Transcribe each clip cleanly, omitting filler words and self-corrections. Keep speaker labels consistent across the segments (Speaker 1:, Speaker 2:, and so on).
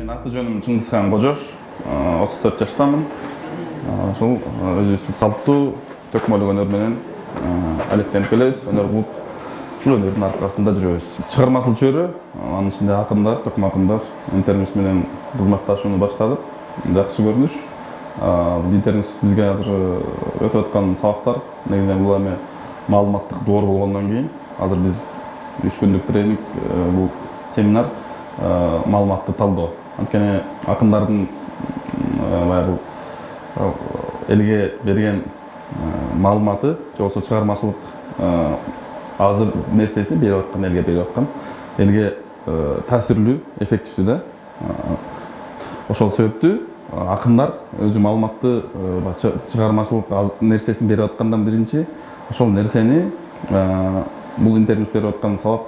Speaker 1: Мен аты жөнүм Чыңгызхан Кожош, 34 жаштамын. Ошол өзүбүздүн салттуу төкмөлүк өнөр менен алектенип келебиз. Өнөр кылып, ушул өнөрдүн аркасында жүрөбүз. Чыгармачыл чөйрө, анын ичинде акындар, төкмө акындар интернет менен кызматташууну баштадык. Жакшы көрүнүш. Интернет бизге азыр өтүп аткан сабактар негизинен бул эми маалыматтык доор болгондон кийин азыр биз 3 күндүк тренинг, бул семинар маалыматты талдоо. Анткени акындардын баягы элге берген маалыматы, же болбосо чыгармачылык азыр нерсеси берип аткан, элге берип аткан, элге таасирлүү, эффективдүү да. Ошол себептүү акындар өзү маалыматты чыгармачылык нерсесин берип аткандан биринчи ошол нерсени бул интервью берип аткан сабак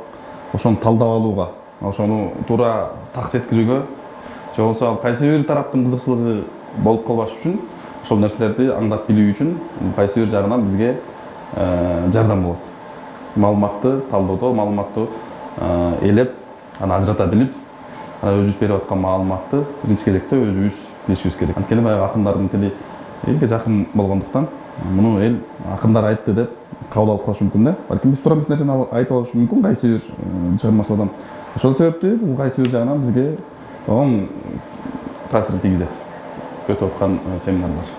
Speaker 1: ошону талдап алууга, ошону туура так жеткирүүгө, же болбосо кайсы бир тараптын кызыкчылыгы болуп калбаш үчүн, ошол нерселерди аңдап билүү үчүн кайсы бир жагынан бизге жардам болот. Маалыматты талдоодо, маалыматты элеп, аны ажырата билип, өзүбүз берип аткан маалыматты биринчи кезекте өзүбүз билишибиз керек. Анткени баягы акындардын тили элге жакын болгондуктан, муну эл акындар айтты деп кабыл алып калышы мүмкүн да. Балким биз туура эмес нерсени айтып алышы мүмкүн кайсы бир чыгармачыл адам. Ошол себептүү бул кайсы бир жагынан бизге таасирин тийгизет өтүп аткан семинарлар.